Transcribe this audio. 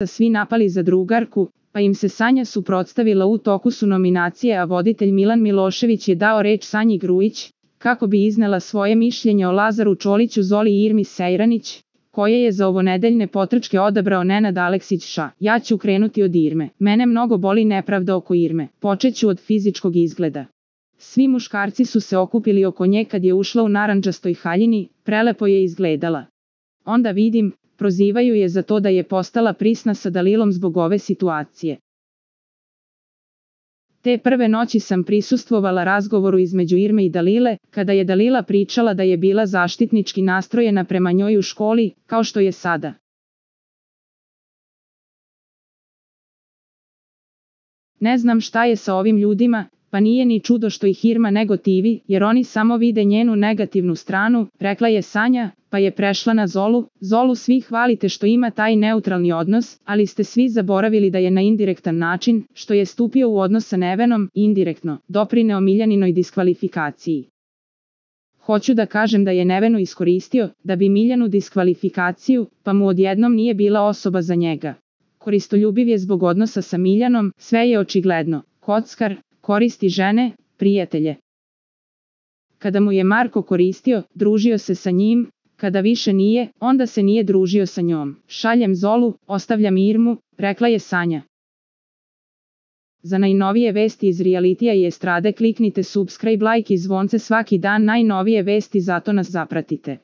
svi napali za drugarku, pa im se Sanja suprotstavila. U toku su nominacije, a voditelj Milan Milošević je dao reč Sanji Grujić, kako bi iznela svoje mišljenje o Lazaru Čoliću, Zoli i Irmi Sejranić, koje je za ovonedeljne potrčke odabrao Nenad Aleksić. Ja ću krenuti od Irme. Mene mnogo boli nepravda oko Irme. Počeću od fizičkog izgleda. Svi muškarci su se okupili oko nje kad je ušla u narandžastoj haljini, prelepo je izgledala. Onda vidim, prozivaju je za to da je postala prisna sa Dalilom zbog ove situacije. Te prve noći sam prisustvovala razgovoru između Irme i Dalile, kada je Dalila pričala da je bila zaštitnički nastrojena prema njoj u školi, kao što je sada. Ne znam šta je sa ovim ljudima, pa nije ni čudo što ih Irma negotivi, jer oni samo vide njenu negativnu stranu, rekla je Sanja, pa je prešla na Zolu. Zolu svi hvalite što ima taj neutralni odnos, ali ste svi zaboravili da je na indirektan način, što je stupio u odnos sa Nevenom, indirektno, doprineo Miljaninoj diskvalifikaciji. Hoću da kažem da je Nevenu iskoristio, da bi Miljanu diskvalifikaciju, pa mu odjednom nije bila osoba za njega. Koristoljubiv je zbog odnosa sa Miljanom, sve je očigledno. Kockar, koristi žene, prijatelje. Kada mu je Marko koristio, družio se sa njim, kada više nije, onda se nije družio sa njom. Šaljem Zolu, ostavljam Irmu, rekla je Sanja. Za najnovije vesti iz realitija i estrade kliknite subscribe, like i zvonce svaki dan. Najnovije vesti, zato nas zapratite.